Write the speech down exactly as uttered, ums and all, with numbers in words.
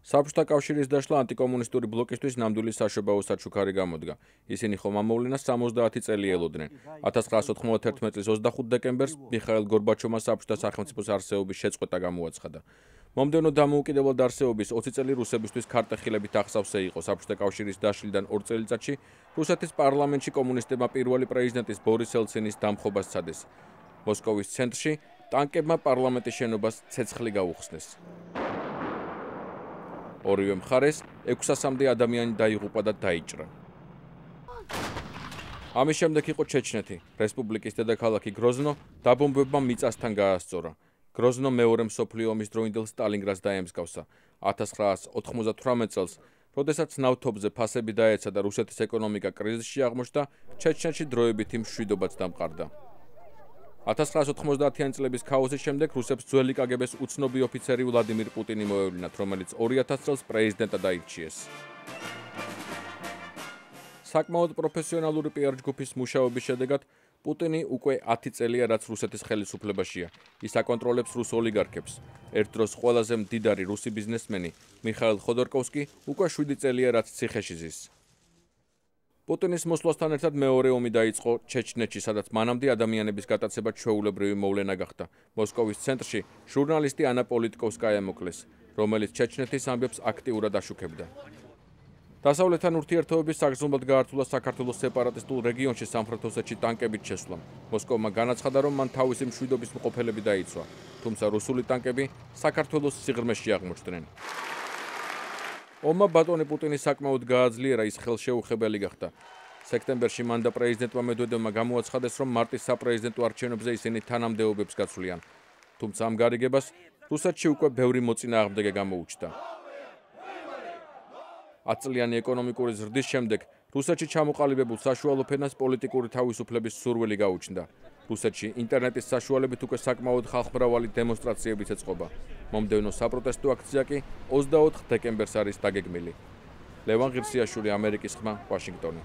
საბჭოთა კავშირის დაშლა ანტიკომუნისტური ბლოკისთვის ნამდვილი საშობაო საჩუქარი გამოდგა. ისინი ხომ ამ მოვლენას სამოცდაათი წელი ელოდნენ. ათას ცხრაასი ოთხმოცდაერთი წლის ოცდახუთ დეკემბერს მიხაილ გორბაჩოვმა საბჭოთა სახელმწიფოს არსებობის შეწყვეტა გამოაცხადა. მომდევნო დამოუკიდებლად არსებობის ოცი წელი რუსებისთვის ქარტეხილებით აღსავსე იყო. საბჭოთა კავშირის დაშლიდან ორ წელიწადში რუსეთის პარლამენტში კომუნისტებმა პირველი პრეზიდენტის ბორის ელცინის დამხობას სცადეს. მოსკოვის ცენტრში ტანკებმა პარლამენტის შენობას ცეცხლი გაუხსნეს. ორივე მხარეს ექვსასამდე ადამიანი დაიღუპა და დაიჭრა. ამის შემდეგ იყო ჩეჩნეთი. რესპუბლიკის დედაქალაქი გროზნო დაბომბებმა მიწასთან გაასწორა. გროზნო მეორე მსოფლიო ომის დროინდელ სტალინგრადს დაემსგავსა. ათას ცხრაასი ოთხმოცდათვრამეტ წელს, როდესაც ნავთობზე ფასები დაეცა და რუსეთის ეკონომიკა კრიზისში აღმოჩნდა, ჩეჩნეთში დროებითი მშვიდობაც დამყარდა. ათას ცხრაასი ოთხმოცდაათიანი წლების ქაოსის შემდეგ რუსებს ძველი კაგებეს უცნობი ოფიცერი ვლადიმირ პუტინი მოევლინათ, რომელიც ორი ათას წელს პრეზიდენტად აირჩიეს. საკმაოდ პროფესიონალური პიარ ჯგუფის მუშაობის შედეგად პუტინი უკვე ათი წელია, რაც რუსეთის ხელისუფლებაშია. ის აკონტროლებს რუს ოლიგარქებს. ერთ დროს ყველაზე მდიდარი რუსი ბიზნესმენი მიხაილ ხოდორკოვსკი უკვე შვიდი წელია, რაც ციხეში ზის. პუტინის მოსვლასთან ერთად მეორე ომი დაიწყო ჩეჩნეთში, სადაც მანამდე ადამიანების გატაცება ჩვეულებრივი მოვლენა გახდა. მოსკოვის ცენტრში ჟურნალისტი ანა პოლიტკოვსკაია მოკლეს, რომელიც ჩეჩნეთის ამბებს აქტიურად აშუქებდა. დასავლეთთან ურთიერთობების საგრძნობლად გაართულა საქართველოს სეპარატისტულ რეგიონში სამხრეთ ოსეთში ტანკებით შესვლამ. მოსკოვმა განაცხადა, რომ მან თავისი მშვიდობის მყოფელები დაიცვა, თუმცა რუსული ტანკები საქართველოს სიღრმეში აღმოჩნდნენ. ომმა ბატონი პუტინი საკმაოდ გააძლიერა, ის ხელშეუხებელი გახდა. სექტემბერში მან და პრეზიდენტმა მედვედევმა გამოაცხადეს, რომ მარტის საპრეზიდენტო არჩევნებზე ისინი თანამდებობებს გაცვლიან. თუმცა ამ გარიგებას რუსეთში უკვე ბევრი მოწინააღმდეგე გამოუჩნდა. ათწლიანი ეკონომიკური ზრდის შემდეგ რუსეთში ჩამოყალიბებულ საშუალო ფენას პოლიტიკური თავისუფლების სურვილი გაუჩნდა. რუსეთში ინტერნეტის საშუალებით უკვე საკმაოდ ხალხმრავალი დემონსტრაციებიც ეწყობა. მომდევნო საპროტესტო აქცია კი ოცდაოთხ დეკემბერს არის დაგეგმილი. ლევან ღირსიაშვილი, ამერიკის ხმა, ვაშინგტონი.